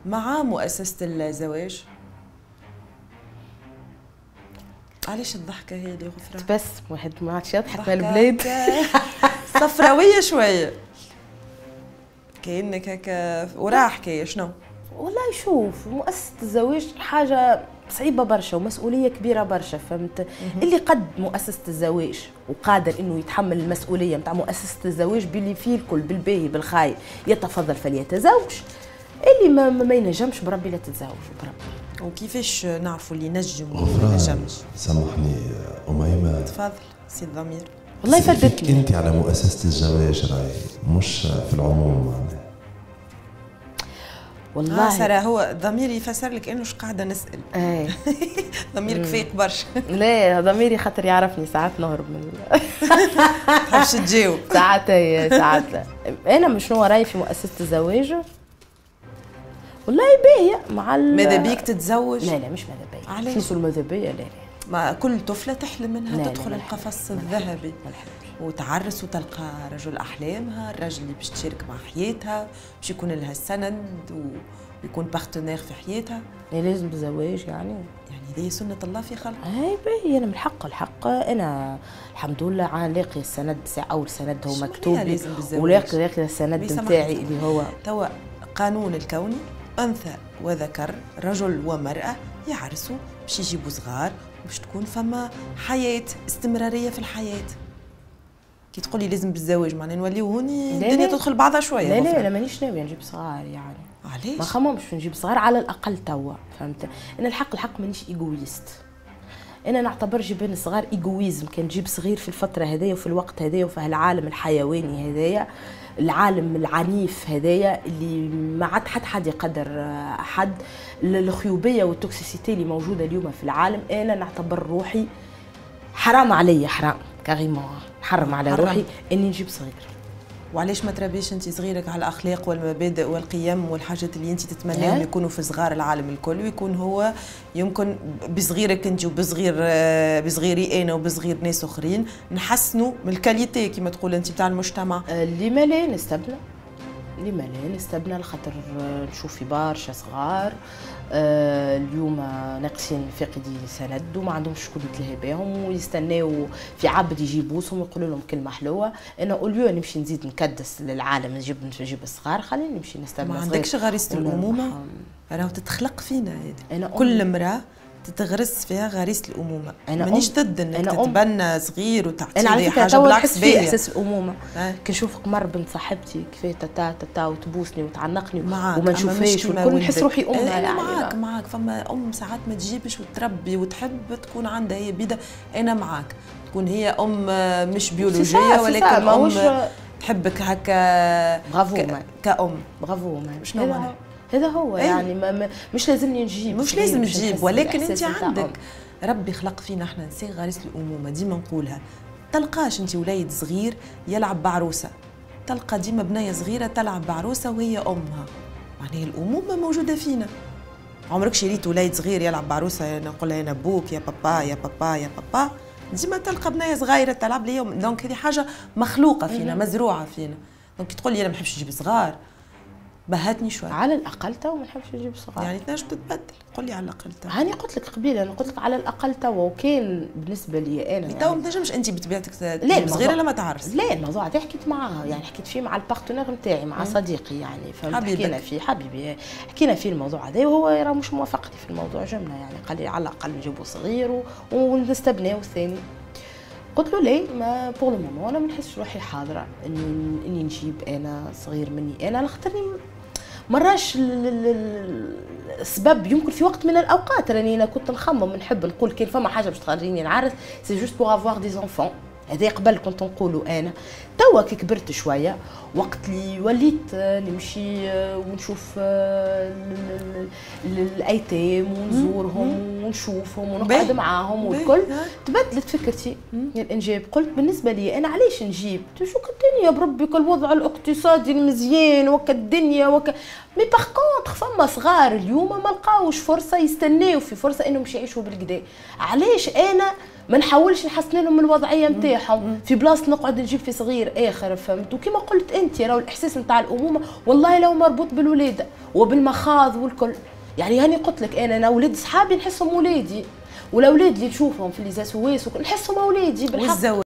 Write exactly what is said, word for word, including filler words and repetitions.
مع مؤسسة الزواج؟ علاش الضحكة هي اللي غفران؟ بس واحد ما عادش يضحك البلاد صفراويه شوية كأنك هكا وراها حكاية. شنو؟ والله شوف، مؤسسة الزواج حاجة صعيبة برشا ومسؤولية كبيرة برشا، فهمت؟ اللي قد مؤسسة الزواج وقادر انه يتحمل المسؤولية نتاع مؤسسة الزواج باللي فيه الكل، بالباهي بالخايب، يتفضل فليتزوج. اللي ما, ما ينجمش بربي لا تتزوج بربي. وكيفاش نعرفوا اللي نجم واللي ما نجمش؟ سامحني أميمة. تفضل سي الضمير. والله فدتني انت على مؤسسة الزواج راهي مش في العموم معناها. والله آه سارة، هو ضميري يفسر لك انه قاعدة نسال. ايه ضميرك فايق برشا. لا ضميري خاطر يعرفني ساعات نهرب من تحبش تجاوب ساعات. ساعات انا مش شنو رايي في مؤسسة الزواج؟ والله باهيه مع ماذا بيك تتزوج؟ لا لا مش ماذا بيا. علاش؟ شنو الماذا بيا؟ لا لا، ما كل طفله تحلم انها تدخل القفص الذهبي وتعرس وتلقى رجل احلامها، الرجل اللي باش تشارك مع حياتها، باش يكون لها السند ويكون partenaire في حياتها. لازم بالزواج يعني يعني هذه سنة الله في خلقه. هاي باهي، انا من الحق الحق انا الحمد لله لاقي السند، اول سند هو مكتوب لي ولاقي لاقي السند نتاعي اللي هو توا قانون الكوني، انثى وذكر، رجل ومراة يعرسوا باش يجيبوا صغار باش تكون فما حياة استمرارية في الحياة. كي تقولي لازم بالزواج معناها نوليو هوني الدنيا تدخل بعضها شوية. لا لا انا مانيش ناوية نجيب صغار يعني. علاش؟ ما خممش نجيب صغار على الاقل توا، فهمت؟ انا الحق الحق مانيش égoïste. انا نعتبر جيبان الصغار égoïsme، كان تجيب صغير في الفترة هذيا وفي الوقت هذايا وفي هالعالم الحيواني هذايا، العالم العنيف هذايا اللي ما عاد حد حد يقدر احد، الخيوبيه وال toxicité اللي موجودة اليوم في العالم، انا نعتبر روحي حرام عليا، حرام carrément، حرم على حرام. روحي اني نجيب صغير. وعلاش ما تربيش انت صغيرك على الاخلاق والمبادئ والقيم والحاجات اللي انت تتمناهم يكونوا في صغار العالم الكل، ويكون هو يمكن بصغيرك انت وبصغير بصغيري انا وبصغير ناس اخرين نحسنوا من ال qualité كما تقول انت بتاع المجتمع. لما لا نستبنى، لما لا نستبنى، لخاطر نشوف في برشا صغار اليوم ناقصين فاقدي سند وما عندهمش شكون يتلهي بهم ويستناو في عبد يجي يبوسهم ويقولوا لهم كلمة حلوة. انا au lieu نمشي نزيد نكدس للعالم نجيب نجيب الصغار، خليني نمشي نستبنى. ما عندكش غريزة الامومة؟ راهو تتخلق فينا هذه، كل امراة تتغرس فيها غريزة الامومة. مانيش ضد انك تتبنى صغير وتعطيه حاجة، بالعكس باهيه احساس الامومة. أه؟ كي نشوف قمر بنت صاحبتي كيفاه تتا تتا وتبوسني وتعنقني وما نشوفهاش والكل نحس روحي امها. انا معاك معاك، فما ام ساعات ما تجيبش وتربي وتحب تكون عندها هي بيده، انا معاك تكون هي ام مش بيولوجية ولكن ام تحبك هكا. برافو ك... كأم. برافو. شنو معناها؟ هذا هو يعني ما مش لازمني نجيب، مش لازم تجيب، ولكن انت عندك ربي خلق فينا احنا نساء غريزة الامومة، ديما نقولها. تلقاش انت وليد صغير يلعب بعروسه، تلقى ديما بنيه صغيرة تلعب بعروسه وهي امها، معناها الامومة موجودة فينا. عمرك شريت وليد صغير يلعب بعروسه نقول لها انا بوك يا بابا يا بابا يا بابا؟ ديما تلقى بنيه صغيرة تلعب لي. donc هذه حاجة مخلوقه فينا، مزروعة فينا. donc تقول لي انا ما نحبش نجيب صغار، بهتني شوي. على الاقل تو ما نحبش نجيب صغار. يعني تنجم تتبدل، قول لي على الاقل تو. هاني قلت لك قبيلة، انا قلت لك على الاقل تو، وكان بالنسبة لي انا يعني تو ما تنجمش انت بطبيعتك تجيب صغيرة لما تعرس. لا الموضوع هذا حكيت معاه، يعني حكيت فيه مع ال partenaire نتاعي، مع صديقي يعني، فهمت؟ حكينا فيه حبيبي، حكينا فيه الموضوع هذا وهو راه مش موافقني في الموضوع جملة، يعني قال لي على الاقل نجيبوا صغير ونستبناو الثاني. قلت له ليه ما pour le moment انا ما نحسش روحي حاضره اني اني نجيب انا صغير مني انا، على خاطرني مراش السبب. يمكن في وقت من الاوقات راني انا كنت نخمم نحب نقول كان فما حاجة باش تخليني نعرس c'est juste pour avoir des enfants، هذا قبل كنت نقولوا انا. توا كي كبرت شوية وقت اللي وليت نمشي ونشوف الايتام ونزورهم ونشوفهم ونقعد معاهم والكل، تبدلت فكرتي الانجاب. قلت بالنسبة لي انا علاش نجيب؟ شو الدنيا بربي الوضع الاقتصادي المزيان وك الدنيا وك mais par contre فما صغار اليوم ما لقاوش فرصة، يستناو في فرصة انهم باش يعيشوا بالكدا. علاش انا ما نحاولش نحسن لهم الوضعية نتاعهم في بلاصة نقعد نجيب في صغير اخر، فهمت؟ وكما قلت انت راهو الاحساس نتاع الامومة والله لو مربوط بالولاده وبالمخاض والكل. يعني هاني قلت لك انا انا ولاد صحابي نحسهم ولادي، والاولاد اللي نشوفهم في les SOS نحسهم اولادي بالحق.